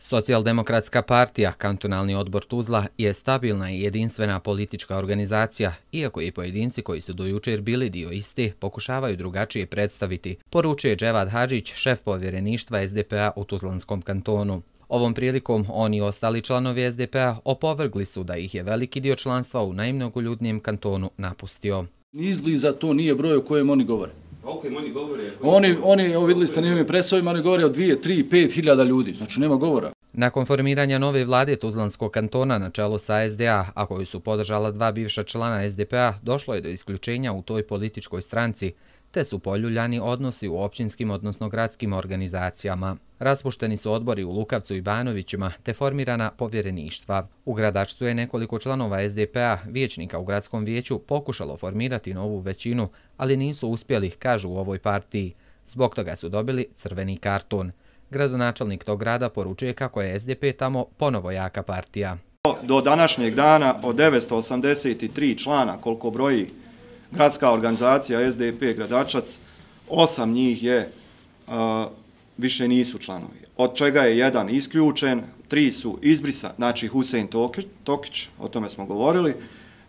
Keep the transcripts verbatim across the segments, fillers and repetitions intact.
Socijaldemokratska partija, kantonalni odbor Tuzla, je stabilna i jedinstvena politička organizacija, iako i pojedinci koji su do jučer bili dio iste pokušavaju drugačije predstaviti, poručuje Dževad Hadžić, šef povjereništva es de pe a u Tuzlanskom kantonu. Ovom prilikom on i ostali članovi es de pe a opovrgli su da ih je veliki dio članstva u najmnogoljudnijem kantonu napustio. Ni izbliza to nije broj o kojem oni govore. O kojem oni govore? Oni, oni, evo vidjeli ste na njihovim presovima, oni govore o dvije, tri, pet hiljada ljudi, znači nema govora. Nakon formiranja nove vlade Tuzlanskog kantona na čelu sa es de a, a koju su podržala dva bivša člana es de pe a, došlo je do isključenja u toj političkoj stranci, te su poljuljani odnosi u općinskim, odnosno gradskim organizacijama. Raspušteni su odbori u Lukavcu i Banovićima, te formirana povjereništva. U Gradačcu je nekoliko članova es de pe a, vijećnika u gradskom vijeću, pokušalo formirati novu većinu, ali nisu uspjeli, kažu u ovoj partiji. Zbog toga su dobili crveni karton. Gradonačelnik tog grada poručuje kako je es de pe tamo ponovo jaka partija. Do današnjeg dana od devetsto osamdeset tri člana, koliko broji gradska organizacija es de pe Gradačac, osam njih je, uh, više nisu članovi. Od čega je jedan isključen, tri su izbrisa, znači Husein Tokić, o tome smo govorili,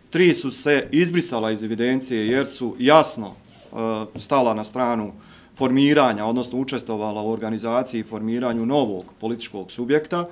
tri su se izbrisala iz evidencije jer su jasno uh, stala na stranu formiranja, odnosno učestvovala u organizaciji i formiranju novog političkog subjekta,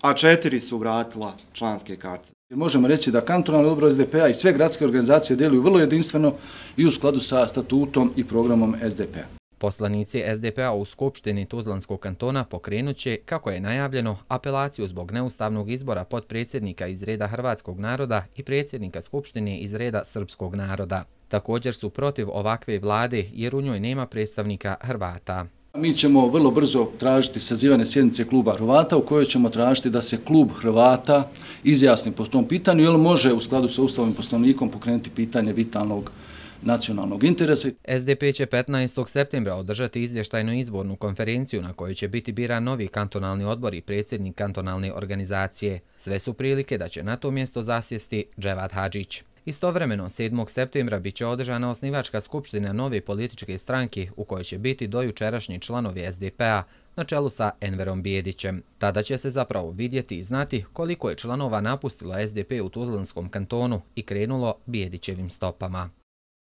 a četiri su vratila članske kartice. Možemo reći da kantonalni odbor es de pe a i sve gradske organizacije djeluju vrlo jedinstveno i u skladu sa statutom i programom es de pe a. Poslanici es de pe a u Skupštini Tuzlanskog kantona pokrenut će, kako je najavljeno, apelaciju zbog neustavnog izbora potpredsjednika iz reda hrvatskog naroda i predsjednika Skupštine iz reda srpskog naroda. Također su protiv ovakve vlade jer u njoj nema predstavnika Hrvata. Mi ćemo vrlo brzo tražiti sazivanje sjednice kluba Hrvata u kojoj ćemo tražiti da se klub Hrvata izjasni po tom pitanju, jer može u skladu sa Ustavom i Poslovnikom pokrenuti pitanje vitalnog nacionalnog interesa. es de pe će petnaestog septembra održati izvještajnu izbornu konferenciju na kojoj će biti biran novi kantonalni odbor i predsjednik kantonalne organizacije. Sve su prilike da će na to mjesto zasjesti Dževad Hadžić. Istovremeno, sedmog septembra bit će održana osnivačka skupština nove političke stranke u kojoj će biti dojučerašnji članovi es de pe a na čelu sa Enverom Bijedićem. Tada će se zapravo vidjeti i znati koliko je članova napustilo es de pe u Tuzlanskom kantonu i krenulo Bijedićevim stopama.